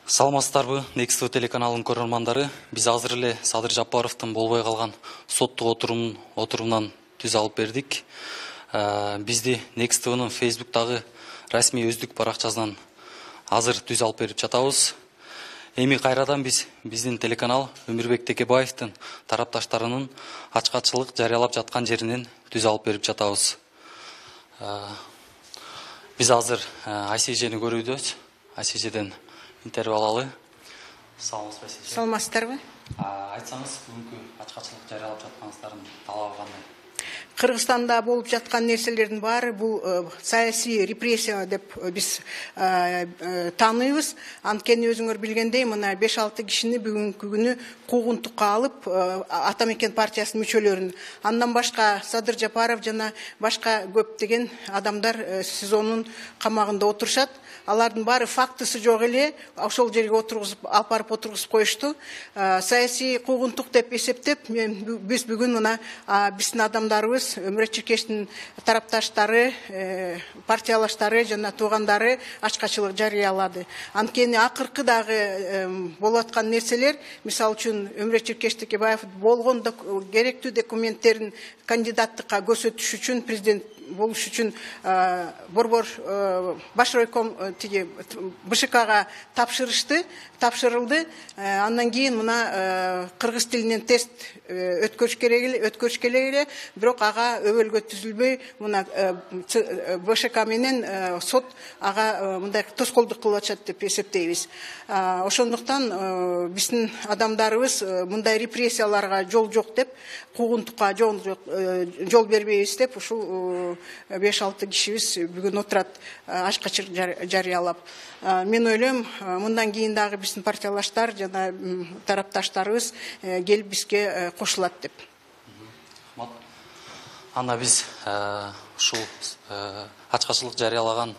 Саламатсыздарбы, Next телеканалынын көрөрмандары. Биз азыр эле Садыр Жапаровдун болбой калган соттук отурумунан түз алып бердик. Бизди Next-нын Facebook'тагы расмий өздүк баракчасынан азыр түз алып берип жатабыз. Эми кайрадан биздин телеканал Өмүрбек Текебаевдин тарапташтарынын ачкачылык жарыялап жаткан жеринен түз алып берип жатабыз. Биз азыр ICJ'ни көрүүбүз. ICJ'ден интервью алалы. Саламатсыздарбы? Айтсаңыз, бүгүнкү ачкачылык жарыялап жатканыңыздардын талабы кандай? Кыргызстанда болуп жаткан нерселердин баары бул саясий репрессия деп биз тааныйбыз. Анткени өзүңөр билгендей, мына 5-6 кишини бүгүнкү күнү куугунтукка алып, Атамекен партиясынын мүчөлөрүн, андан башка Садыр Жапаров жана башка көптөгөн адамдар СИЗОнун камагында отурушат. Алардын баары фактысы жок эле, ошол жерге алып барып отургузуп коюшту. Саясий куугунтук деп эсептеп, биз бүгүн мына биздин адамдарыбыз, Өмүрөт Чиркештин тарапташтары, партиялаштары жана туугандары ачкачылык жарыялады. Анткени акыркы дагы болуп аткан нерселер, мисалы үчүн Өмүрөт Чиркеш Текебаев болгон керектүү документтерин кандидаттыкка көрсөтүш үчүн, президент болуш үчүн борбор баш райком БШКга тапшырылды. Андан кийин мына кыргыз тилинен тест өткөрүш керек эле, бирок ага өбөлгө түзүлбөй, мына БШК менен сот ага мындай тоскоолдук кылып атышат деп эсептейбиз. Ошондуктан биздин адамдарыбыз мындай репрессияларга жол жок деп, куугунтукка жол бербейбиз деп, ушул 5-6 кишибиз бүгүн отурат ачкачылык жарыялап. Мен ойлойм, мындан кийин дагы биздин партиялаштар жана тарапташтарыбыз келип бизге кошулат деп. Анда биз ушул ачкачылык жарыялаган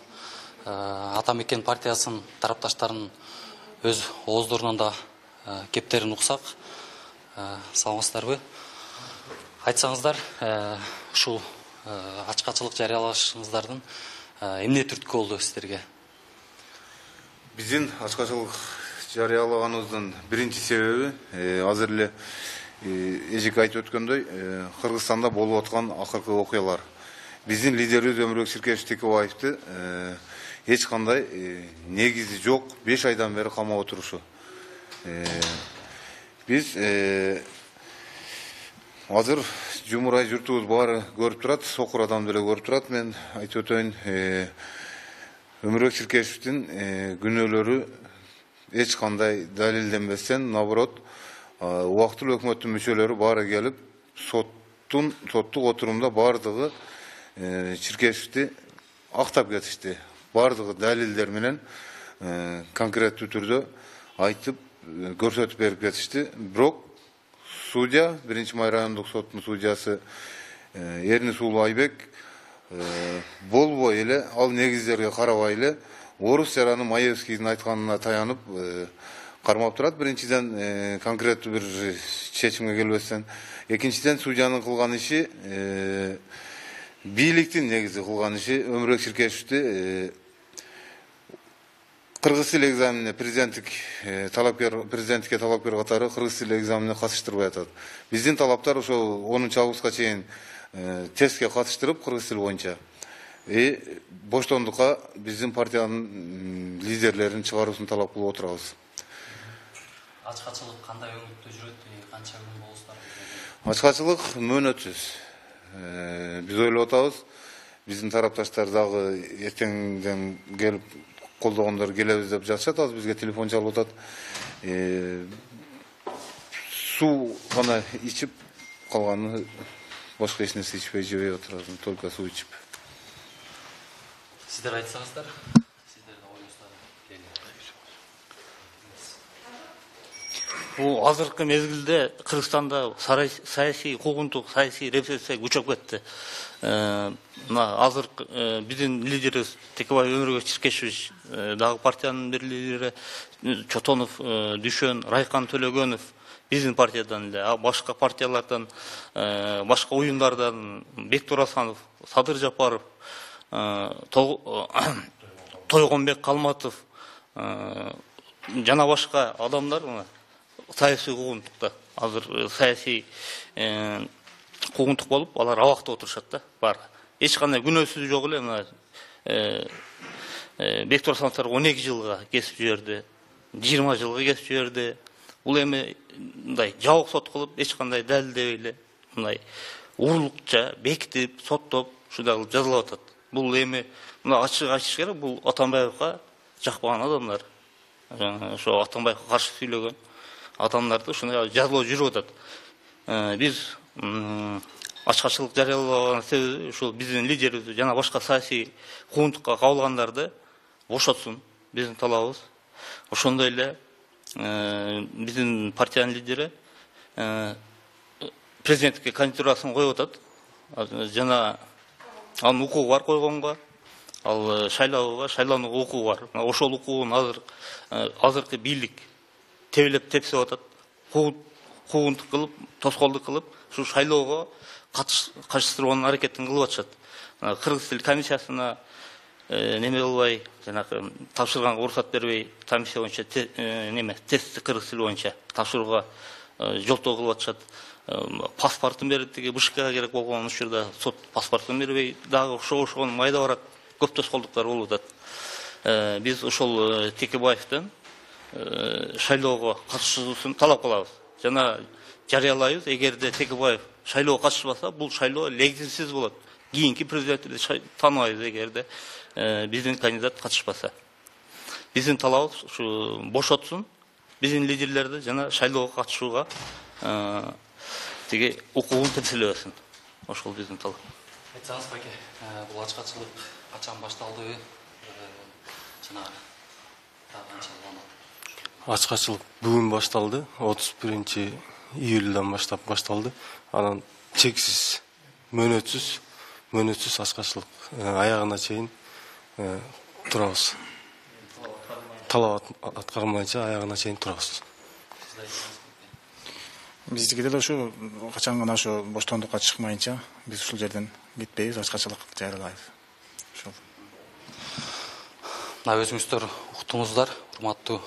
Атамекен партиясынын тарапташтарынын өз ооздорунан да кептерин уксак. Саламатсыздарбы? Айтсаңыздар, ушул ачкачылык жарыялашыңыздардын эмне түрткү болду сиздерге? Биздин ачкачылык жарыялаганыбыздын биринчи себеби азыр эле эжеке айтып өткөндөй, Кыргызстанда болуп аткан акыркы окуялар. Биздин лидерибиз Өмүрбек Чиркеш Текебаевди эч кандай негизи жок 5 айдан бери камап отурушу. Биз азыр жумурай журтубуз баары көрүп турат, сокур адам деле көрүп турат. Мен айтып өтөйүн, Өмүрбек Чиркешевдин күнөөлөрү эч кандай далилденбестен, наоборот, убактылуу өкмөттүн мүчөлөрү баары келип, соттук отурумда баардыгы Чиркешевди актап кетишти. Баардыгы далилдер менен конкреттүү түрдө айтып, көрсөтүп берип кетишти. Бирок судья, 1-Май райондук соттун судьясы Эрнисулуу Айбек болбой эле, ал негиздерге карабай эле, орус жараны Маевскийдин айтканына таянып кармап турат. Биринчиден конкреттүү бир чечимге келбестен, экинчиден судьянын кылган иши, бийликтин негизи кылган иши, Өмүрбек Чиркешевди кыргыз тил экзаменине президентикке талапкер катары кыргыз тил экзаменине катыштырбай атат. Биздин талаптар ошол 10-августка чейин тестке катыштырып кыргыз тил боюнча боштондукка биздин партиянын лидерлерин чыгаруусун талап кылып отурабыз. Ачкачылык кандай өңүттө жүрөт, канча күн болуңуздар? Ачкачылык мөөнөтсүз. Биз ойлоп атабыз, биздин тарапташтар дагы эртеңден келип колдогондор келебиз деп жатышат, азыр бизге телефон чалып атат. Суу гана ичип калганы, башка эч нерсе ичпей жебей отурат, только суу ичип. Сиздер айтсаңыздар, сиздердин оюңуздар Бул азыркы мезгилде Кыргызстанда саясий куугунтук, саясий репрессия күчөп кетти. Мына азыр биздин лидерибиз Текебаев Өмүрбек Чиркешевич, дагы партиянын бир лидери Чотонов, Дүшөн, Райкан Төлөгөнов биздин партиядан эле, башка партиялардан, башка уюмдардан Бектур Асанов, Садыр Жапаров, Тойгонбек Калматов, жана башка адамдар саясий куугунтукта азыр саясий куугунтук болуп, алар абакта отурушат да, бар. Эч кандай күнөөсү жок эле мына Бектур Асановдор 12 жылга кесип жиберди, 20 жылга кесип жиберди. Бул эми мындай жабык сот кылып, эч кандай далилдебей эле мындай урурлукча бекитип, соттоп, ушундай кылып жазалап атат. Бул эми мына ачык айтыш керек, бул Атамбаевга жакпаган адамдар. Ошо Атамбаевга каршы сүйлөгөн адамдарды ушундай жазалоо жүрүп атат. Биз ачкачылык жарыялаган себеби ушул биздин лидерибиз жана башка саясий куугунтукка кабылгандарды бошотсун. Биздин талабыбыз. Ошондой эле биздин партиянын лидери президенттикке кандидатурасын коюп атат. Жана анын укугу бар койгонго, ал шайлоонуга укугу бар. Ошол укугун азыркы бийлик тебелеп тепсип атат. Куугунтук кылып, тоскоолдук кылып, ушу шайлоого катыштырууга аракетин кылып атышат. Кыргыз тил комиссиясына неме кылбай, жанагы тапшырганга уруксат бербей, комиссия боюнча тестти кыргыз тили боюнча тапшырууга жолтоо кылып атышат. Паспортун берип деги БШКга керек болгон учурда сот паспортун бербей, дагы ошого майда барак көп тоскоолдуктар болуп атат. Биз ошол Текебаевден шайлоого катышуусун талап кылабыз. Жана жарыялайбыз, эгерде Текебаев шайлоого катышпаса, бул шайлоо легитимсиз болот. Кийинки президентти тааныбайбыз эгерде биздин кандидат катышпаса. Биздин талабыбыз ушу бошотсун, биздин лидерлерди жана шайлоого катышууга тиги укугун тепселебесин. Ошол биздин талап. Айтсаңыз, Баке, бул ачкачылык качан башталды? Жана канча Ачкачылык бүгүн башталды. 31-июлдан башталды. Анан чексиз, мөөнөтсүз ачкачылык аягына чейин турабыз. Талап аткармайча аягына чейин турабыз. Биздики деле ушу качан гана ушу боштондукка чыкмайынча биз ушул жерден кетпейбиз, ачкачылык жарыялайбыз. Ошол. Мына өзүңүздөр уктуңуздар, урматтуу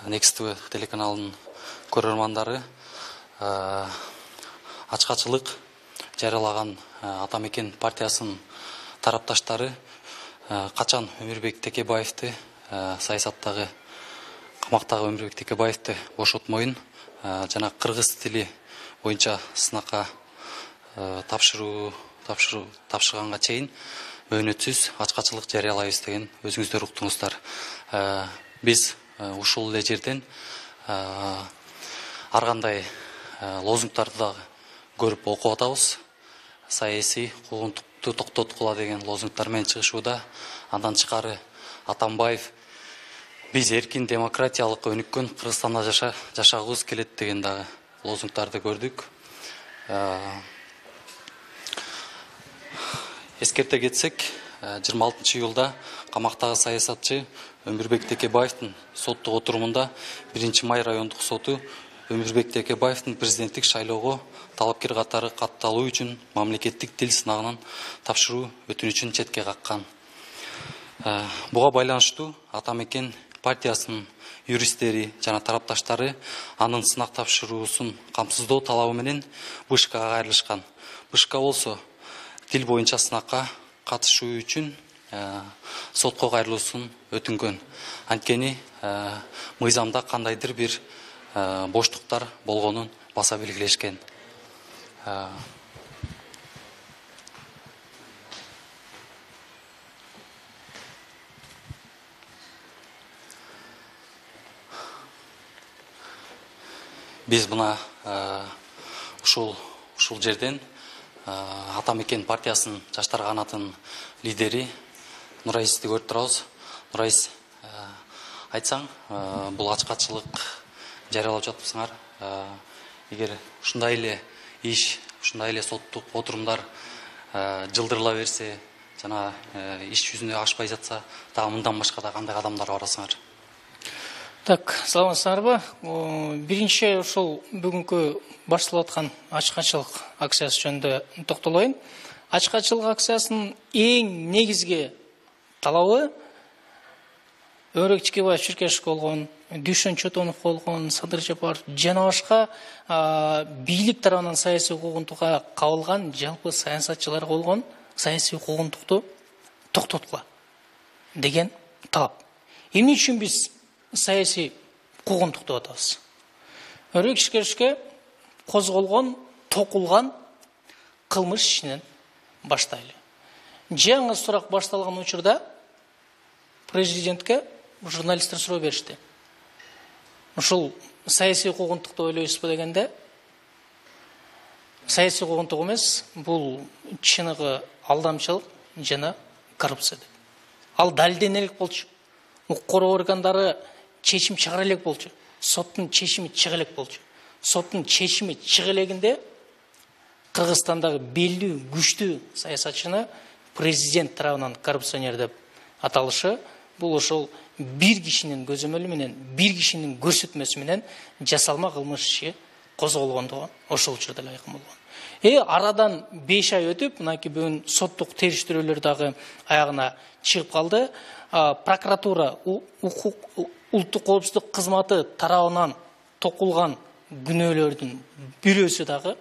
Next TV телеканалынын көрөрмандары. Ачкачылык жарыялаган Атамекен партиясынын тарапташтары качан Өмүрбек Текебаевди, саясаттагы камактагы Өмүрбек Текебаевди бошотмоюн жана кыргыз тили боюнча сынакка тапшырганга чейин мөөнөтсүз ачкачылык жарыялайбыз деген өзүңүздөр уктуңуздар. Биз ушул эле жерден ар кандай лозунгдарды дагы көрүп окуп атабыз. Саясий куугунтукту токтоткула деген лозунгдар менен чыгышууда. Андан тышкары Атамбаев биз эркин демократиялык өнүккөн Кыргызстанда жашагыбыз келет деген дагы лозунгдарды көрдүк. Эскерте кетсек, 26-июлда камактагы саясатчы Өмүрбек Текебаевдин соттук отурумунда 1-Май райондук соту Өмүрбек Текебаевдин президенттик шайлоого талапкер катары катталуу үчүн мамлекеттик тил сынагынан тапшыруу өтүнүчүн четке каккан. Буга байланыштуу Атамекен партиясынын юристтери жана тарапташтары анын сынак тапшыруусун камсыздоо талабы менен БШКга кайрылышкан. БШК болсо тил боюнча сынакка катышуу үчүн сотко кайрылуусун өтүнгөн. Анткени мыйзамда кандайдыр бир боштуктар болгонун баса белгилешкен. Биз мына ушул жерден Атамекен партиясынын жаштар канатынын лидери Нураисти көрүп турабыз. Нураис, айтсаң, бул ачкачылык жарыялап жатыпсыңар. Эгер ушундай эле иш, ушундай эле соттук отурумдар жылдырыла берсе, жана иш жүзүнө ашпай жатса, дагы мындан башка да кандай кадамдар барасыңар? Так, саламатсыздарбы? Биринчи ушул бүгүнкү башталып аткан ачкачылык акциясы жөнүндө токтолоюн. Ачкачылык акциясынын эң негизги талабы Өмүрбек Текебаев чиркешик болгон Дүйшөн Чотонов болгон, Садыр Жапаров жана башка бийлик тарабынан саясий куугунтукка кабылган жалпы саясатчылар болгон саясий куугунтукту токтоткула деген талап. Эмне үчүн биз саясий куугунтук деп атабыз? Өрөкшикешке козголгон, токулган кылмыш ишинен баштайлы. Жаңы сурак башталган учурда президентке журналисттер суроо беришти. Ушул саясий куугунтук деп ойлойсузбу дегенде, саясий куугунтук эмес, бул чыныгы алдамчылык жана коррупция деп. Ал далилдене элек болчу. Укук коргоо органдары чечим чыгара элек болчу. Соттун чечими чыга элек болчу. Соттун чечими чыга элегинде Кыргызстандагы белдүү, күчтүү саясатчыны президент тарабынан коррупционер деп аталышы, бул ошол бир кишинин көзөмөлү менен, бир кишинин көрсөтмөсү менен жасалма кылмыш иши козголгондугу ошол учурда эле айкын болгон. Арадан 5 ай өтүп, мынакей бүгүн соттук териштирүүлөр дагы аягына чыгып калды. Прокуратура, улуттук коопсуздук кызматы тарабынан токулган күнөөлөрдүн бирөөсү дагы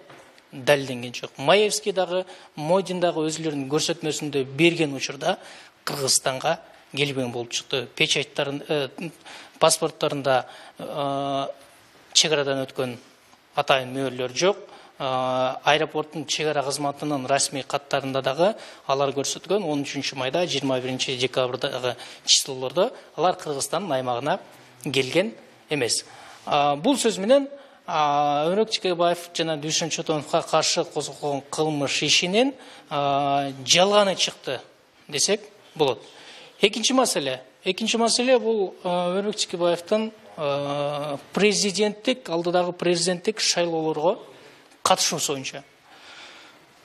далилденген жок. Маевский дагы, Модин дагы өзүлөрүнүн көрсөтмөсүндө берген учурда Кыргызстанга келбеген болуп чыкты. Печаттарын, паспорттарында чек арадан өткөн атайын мөөрлөр жок. Аэропорттун чек ара кызматынын расмий каттарында дагы алар көрсөткөн 13 майда, 21 декабрдагы числолордо алар Кыргызстандын аймагына келген эмес. Бул сөз менен Өмүрөк Чекебаев жана Дүйшөн Чотоновго каршы козголгон кылмыш ишинин жалганы чыкты десек болот. Экинчи маселе бул Өмүрөк Чекебаевдин президенттик, алдыдагы президенттик шайлоолорго катышуусу боюнча.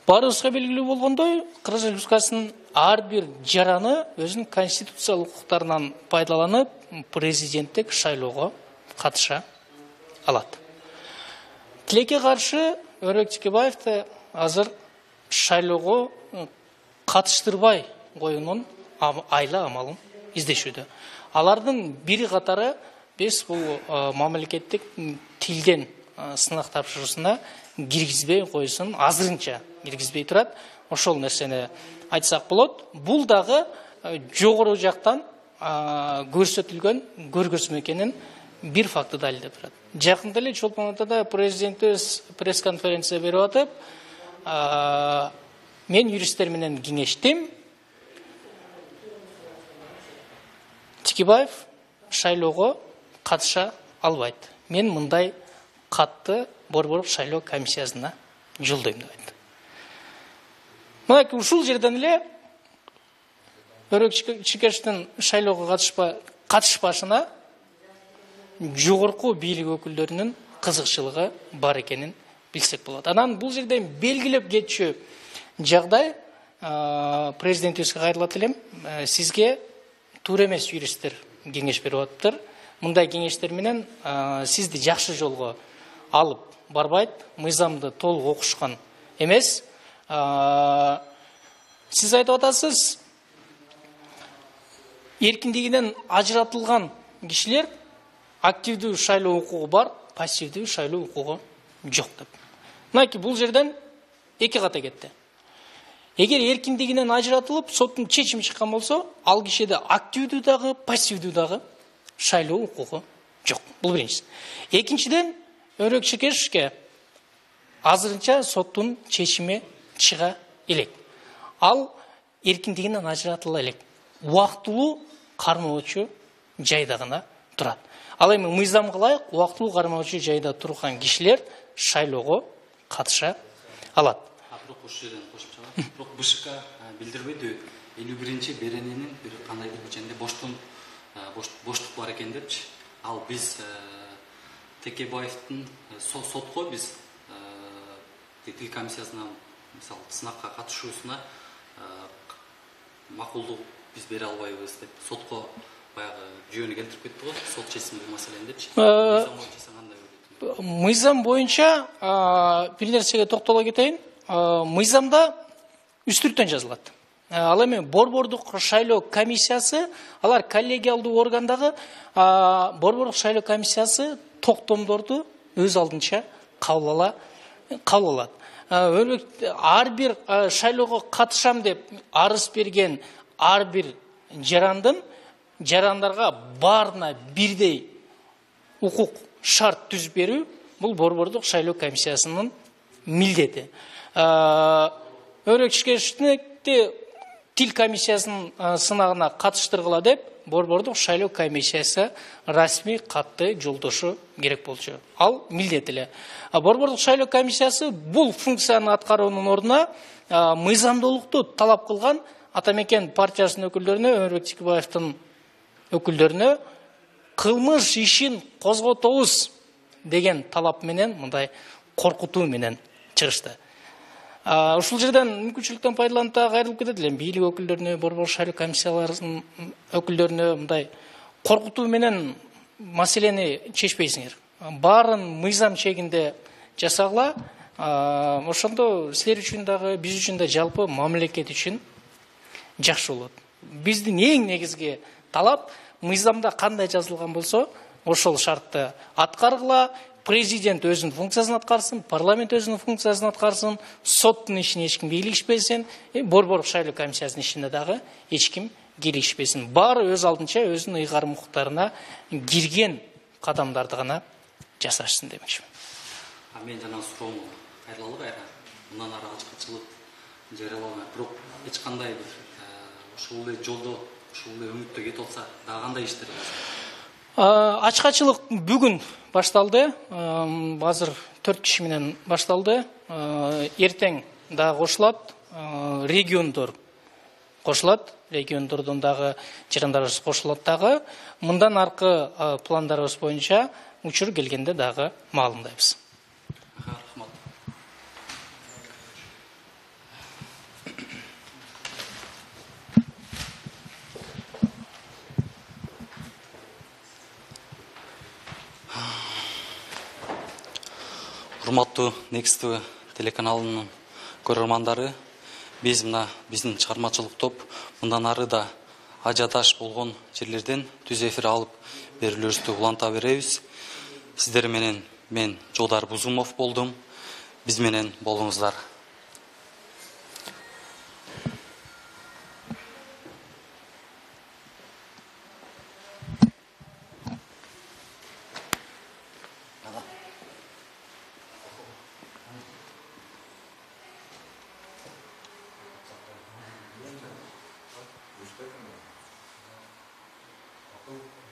Баарыбызга белгилүү болгондой, Кыргыз Республикасынын ар бир жараны өзүнүн конституциялык укуктарынан пайдаланып президенттик шайлоого катыша алат. Тилекке каршы Өмүрөк Чекебаевди азыр шайлоого катыштырбай коюунун айла амалын издешүүдө. Алардын бири катары биз бул мамлекеттик тилден сынак тапшыруусуна киргизбей коюусун азырынча киргизбей турат. Ошол нерсени айтсак болот. Бул дагы жогору жактан көрсөтүлгөн көргөзмө экенин бир факты далилдеп турат. Жакында эле Чолпон Атада президентибиз пресс-конференция берип атып, мен юристтер менен кеңештим. Чекебаев шайлоого катыша албайт. Мен мындай катты Борбордук шайлоо комиссиясына жолдойм деп айтты. Мынакей ушул жерден эле Өмүрөк Чекебаевдин шайлоого катышпашына жогорку бийлик өкүлдөрүнүн кызыкчылыгы бар экенин билсек болот. Анан бул жерден белгилеп кетчү жагдай президентибизге кайрылат элем. Сизге туура эмес юристтер кеңеш берип атыптыр. Мындай кеңештер менен сизди жакшы жолго алып барбайт, мыйзамды толук окушкан эмес. Сиз айтып атасыз, эркиндигинен ажыратылган кишилер активдүү шайлоо укугу бар, пассивдүү шайлоо укугу жок деп. Мынакей бул жерден эки ката кетти. Эгер эркиндигинен ажыратылып, соттун чечими чыккан болсо, ал кишиде активдүү дагы, пассивдүү дагы шайлоо укугу жок. Бул биринчиси. Экинчиден, Өмүрөк Чекебаевке азырынча соттун чечими чыга элек. Ал эркиндигинен ажыратыла элек. Убактылуу кармоочу жайда гана турат. Ал эми мыйзамга ылайык убактылуу кармоочу жайда турган кишилер шайлоого катыша алат. Бирок ошол жерден кошуп чыгам. Бирок БШК билдирбейди 51-чи берененин бир кандайдыр ичинде боштук бар экен депчи. Ал биз Текебаевдин сотко биз тил комиссиясына мисалы сынакка катышуусуна макулдук биз бере албайбыз деп сотко баягы жүйөнү келтирип кетти го. Сот чечсин бул маселени депчи. Мыйзам боюнча бир нерсеге токтоло кетейин. Мыйзамда үстүртөн жазылат. Ал эми борбордук шайлоо комиссиясы, алар коллегиалдуу органдагы борбордук шайлоо комиссиясы токтомдорду өз алдынча кабыл алат. Ар бир шайлоого катышам деп арыз берген ар бир жарандарга баарына бирдей укук шарт түзүп берүү бул борбордук шайлоо комиссиясынын милдети. Өрөкчүкечтикти тил комиссиясынын сынагына катыштыргыла деп борбордук шайлоо комиссиясы расмий катты жолдошу керек болчу. Ал милдет эле. Борбордук шайлоо комиссиясы бул функцияны аткаруунун ордуна мыйзамдуулукту талап кылган Атамекен партиясынын өкүлдөрүнө, Өмүрбек Текебаевдин өкүлдөрүнө кылмыш ишин козготобуз деген талап менен, мындай коркутуу менен чыгышты. Ушул жерден мүмкүнчүлүктөн пайдаланып да кайрылып кетет элем. Бийлик өкүлдөрүнө, борбордук шайлоо комиссияларынын өкүлдөрүнө мындай коркутуу менен маселени чечпейсиңер. Баарын мыйзам чегинде жасагыла. Ошондо силер үчүн дагы, биз үчүн да жалпы мамлекет үчүн жакшы болот. Биздин эң негизги талап мыйзамда кандай жазылган болсо, ошол шартты аткаргыла. Президент өзүнүн функциясын аткарсын, парламент өзүнүн функциясын аткарсын, соттун ишине эч ким кийлигишпесин, борбордук шайлоо комиссиясынын ишине дагы эч ким кийлигишпесин. Баары өз алдынча өзүнүн ыйгарым укуктарына кирген кадамдарды гана жасашсын демекчимин. Мен жана суроону кайрылалы кайра. Мындан ары ачкачылык жарыяламай, бирок эч кандай бир ушул эле жолдо, ушул эле өңүттө кетип атса, дагы кандай иштер? Ачкачылык бүгүн башталды. Азыр 4 киши менен башталды. Эртең дагы кошулат. Региондор кошулат. Региондордон дагы жарандарыбыз кошулат дагы. Мындан аркы пландарыбыз боюнча учур келгенде дагы маалымдайбыз. Рахмат. Урматтуу Next TV телеканалынын көрөрмандары, биздин чыгармачылык топ мындан ары да ажиотаж болгон жерлерден түз эфир алып берүүлөрүбүздү уланта беребиз. Сиздер менен мен Жолдар Бузумов болдум. Биз менен болуңуздар. Thank you.